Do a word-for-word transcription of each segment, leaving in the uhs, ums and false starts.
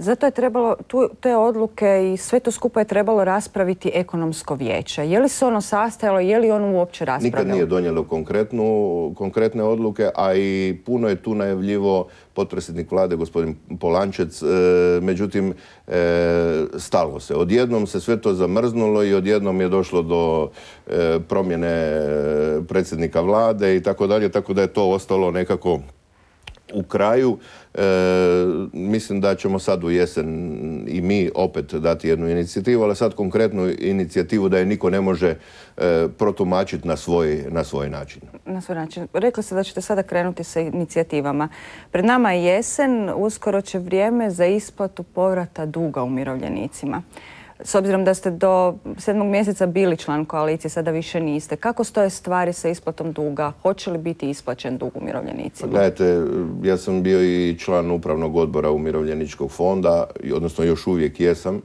Zato je trebalo, tu, te odluke i sve to skupa je trebalo raspraviti ekonomsko vijeće. Je li se ono sastajalo, je li ono uopće raspravljalo? Nikad nije donijelo konkretnu, konkretne odluke, a i puno je tu najavljivo potpredsjednik vlade, gospodin Polančec, e, međutim, e, stalo se. Odjednom se sve to zamrznulo i odjednom je došlo do e, promjene predsjednika vlade i tako dalje, tako da je to ostalo nekako u kraju. E, mislim da ćemo sad u jesen i mi opet dati jednu inicijativu, ali sad konkretnu inicijativu da je niko ne može e, protumačiti na svoj, na svoj način. Na svoj način. Rekli ste da ćete sada krenuti sa inicijativama. Pred nama je jesen, uskoro će vrijeme za isplatu povrata duga umirovljenicima. S obzirom da ste do sedmog mjeseca bili član koalicije, sada više niste. Kako stoje stvari sa isplatom duga? Hoće li biti isplaćen dug umirovljenicima? Gledajte, ja sam bio i član upravnog odbora Umirovljeničkog fonda, odnosno još uvijek jesam.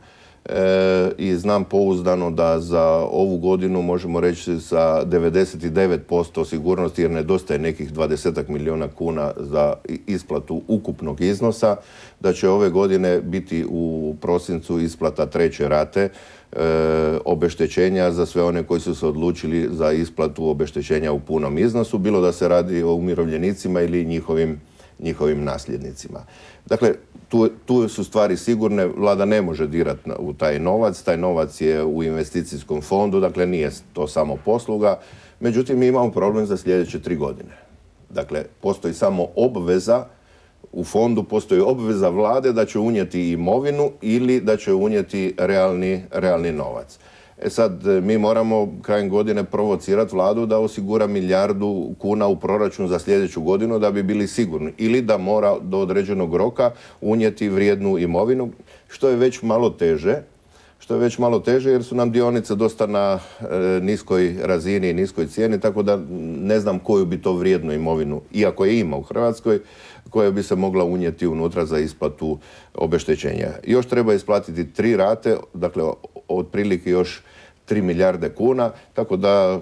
E, i znam pouzdano da za ovu godinu možemo reći sa devedeset devet posto sigurnosti, jer nedostaje nekih dvadesetak milijuna kuna za isplatu ukupnog iznosa, da će ove godine biti u prosincu isplata treće rate e, obeštećenja za sve one koji su se odlučili za isplatu obeštećenja u punom iznosu, bilo da se radi o umirovljenicima ili njihovim, njihovim nasljednicima. Dakle, Tu, tu su stvari sigurne, vlada ne može dirati u taj novac, taj novac je u investicijskom fondu, dakle nije to samo posluga, međutim mi imamo problem za sljedeće tri godine. Dakle, postoji samo obveza, u fondu postoji obveza vlade da će unijeti imovinu ili da će unijeti realni, realni novac. E sad, mi moramo krajem godine provocirati vladu da osigura milijardu kuna u proračun za sljedeću godinu da bi bili sigurni. Ili da mora do određenog roka unijeti vrijednu imovinu, što je već malo teže. Što je već malo teže jer su nam dionice dosta na e, niskoj razini i niskoj cijeni, tako da ne znam koju bi to vrijednu imovinu, iako je ima u Hrvatskoj, koja bi se mogla unijeti unutra za isplatu obeštećenja. Još treba isplatiti tri rate, dakle otprilike još tri milijarde kuna, tako da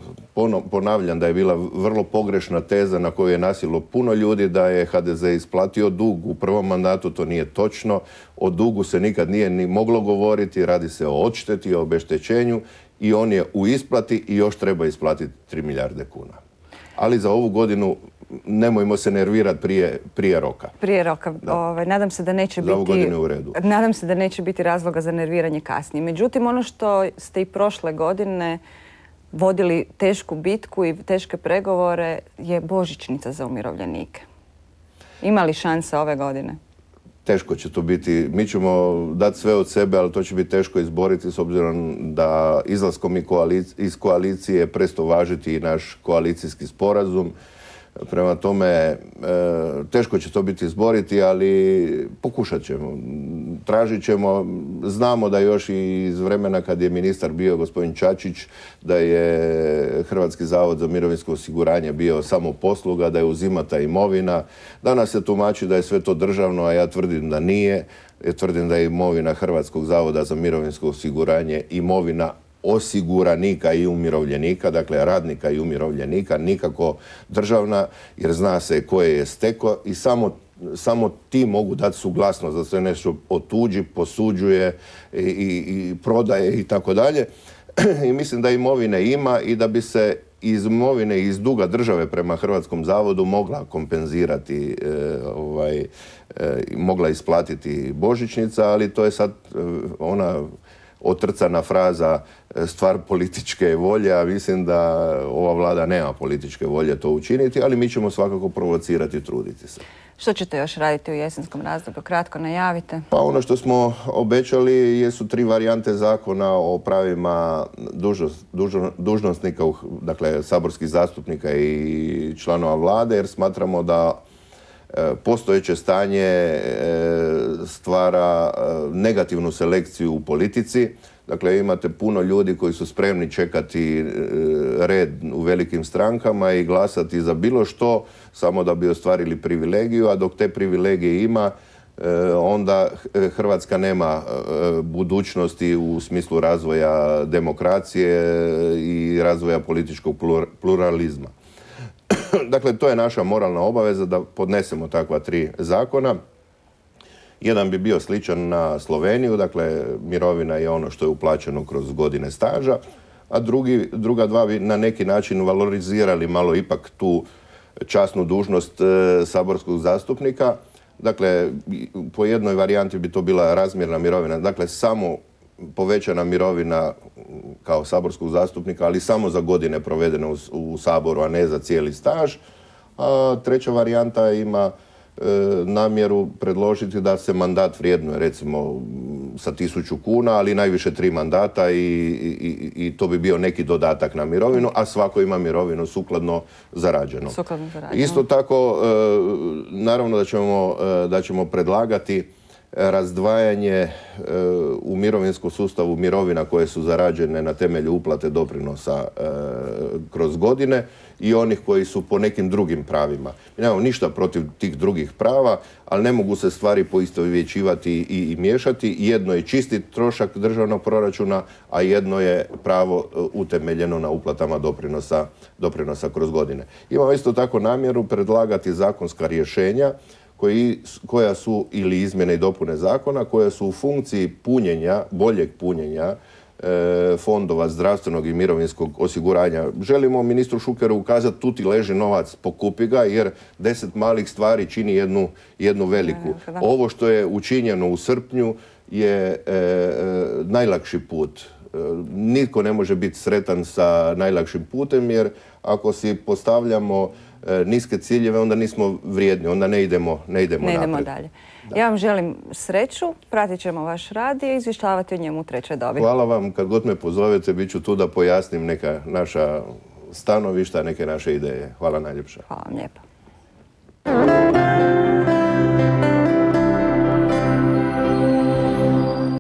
ponavljam da je bila vrlo pogrešna teza na koju je nasilo puno ljudi da je ha de ze isplatio dug u prvom mandatu, to nije točno. O dugu se nikad nije ni moglo govoriti, radi se o odšteti, o obeštećenju i on je u isplati i još treba isplatiti tri milijarde kuna. Ali za ovu godinu nemojmo se nervirati prije, prije roka. Prije roka. Ove, nadam se da neće za biti... ovu godinu u redu. Nadam se da neće biti razloga za nerviranje kasnije. Međutim, ono što ste i prošle godine vodili tešku bitku i teške pregovore je božićnica za umirovljenike. Ima li šansa ove godine? Teško će to biti. Mi ćemo dati sve od sebe, ali to će biti teško izboriti s obzirom da izlaskom iz koalicije presto važiti i naš koalicijski sporazum. Prema tome, e, teško će to biti izboriti, ali pokušat ćemo. Tražit ćemo. Znamo da još i iz vremena kad je ministar bio gospodin Čačić, da je Hrvatski zavod za mirovinsko osiguranje bio samo posluga, da je uzimata imovina. Danas se tumači da je sve to državno, a ja tvrdim da nije. Ja tvrdim da je imovina Hrvatskog zavoda za mirovinsko osiguranje imovina osiguranika i umirovljenika, dakle radnika i umirovljenika, nikako državna, jer zna se koje je steko i samo, samo ti mogu dati suglasnost da se nešto otuđi, posuđuje i, i, i prodaje i tako dalje. I mislim da imovine ima i da bi se iz imovine, iz duga države prema Hrvatskom zavodu mogla kompenzirati, e, ovaj, e, mogla isplatiti božićnica, ali to je sad e, ona otrcana fraza stvar političke volje, a mislim da ova vlada nema političke volje to učiniti, ali mi ćemo svakako provocirati i truditi se. Što ćete još raditi u jesenskom razdoblju? Kratko najavite. Pa ono što smo obećali jesu tri varijante zakona o pravima dužnost, dužno, dužnosnika, dakle saborskih zastupnika i članova vlade, jer smatramo da postojeće stanje stvara negativnu selekciju u politici. Dakle, imate puno ljudi koji su spremni čekati red u velikim strankama i glasati za bilo što, samo da bi ostvarili privilegiju, a dok te privilegije ima, onda Hrvatska nema budućnosti u smislu razvoja demokracije i razvoja političkog pluralizma. Dakle, to je naša moralna obaveza da podnesemo takva tri zakona Jedan bi bio sličan na Sloveniju, dakle mirovina je ono što je uplaćeno kroz godine staža, a drugi, druga dva bi na neki način valorizirali malo ipak tu časnu dužnost e, saborskog zastupnika. Dakle, po jednoj varijanti bi to bila razmjerna mirovina, dakle samo povećana mirovina kao saborskog zastupnika, ali samo za godine provedene u, u Saboru, a ne za cijeli staž. A treća varijanta ima e, namjeru predložiti da se mandat vrijednuje, recimo sa tisuću kuna, ali najviše tri mandata i, i, i to bi bio neki dodatak na mirovinu, a svako ima mirovinu sukladno zarađeno. Sukladno zarađeno. Isto tako, e, naravno da ćemo, e, da ćemo predlagati razdvajanje e, u mirovinskom sustavu mirovina koje su zarađene na temelju uplate doprinosa e, kroz godine i onih koji su po nekim drugim pravima. Mi nemamo ništa protiv tih drugih prava, ali ne mogu se stvari poistovjećivati i, i miješati. Jedno je čisti trošak državnog proračuna, a jedno je pravo utemeljeno na uplatama doprinosa, doprinosa kroz godine. Imamo isto tako namjeru predlagati zakonska rješenja Koji, koja su, ili izmjene i dopune zakona, koje su u funkciji punjenja, boljeg punjenja e, fondova zdravstvenog i mirovinskog osiguranja. Želimo ministru Šukeru ukazati tu ti leži novac, pokupi ga, jer deset malih stvari čini jednu, jednu veliku. Ovo što je učinjeno u srpnju je e, e, najlakši put. E, nitko ne može biti sretan sa najlakšim putem, jer ako si postavljamo niske ciljeve, onda nismo vrijedni, onda ne idemo, ne idemo ne naprijed. idemo dalje. Da. Ja vam želim sreću, pratit ćemo vaš rad i izvještavati o njemu u trećoj dobi. Hvala vam, kad god me pozovete, bit ću tu da pojasnim neka naša stanovišta, neke naše ideje. Hvala najljepša. Hvala vam lijepo.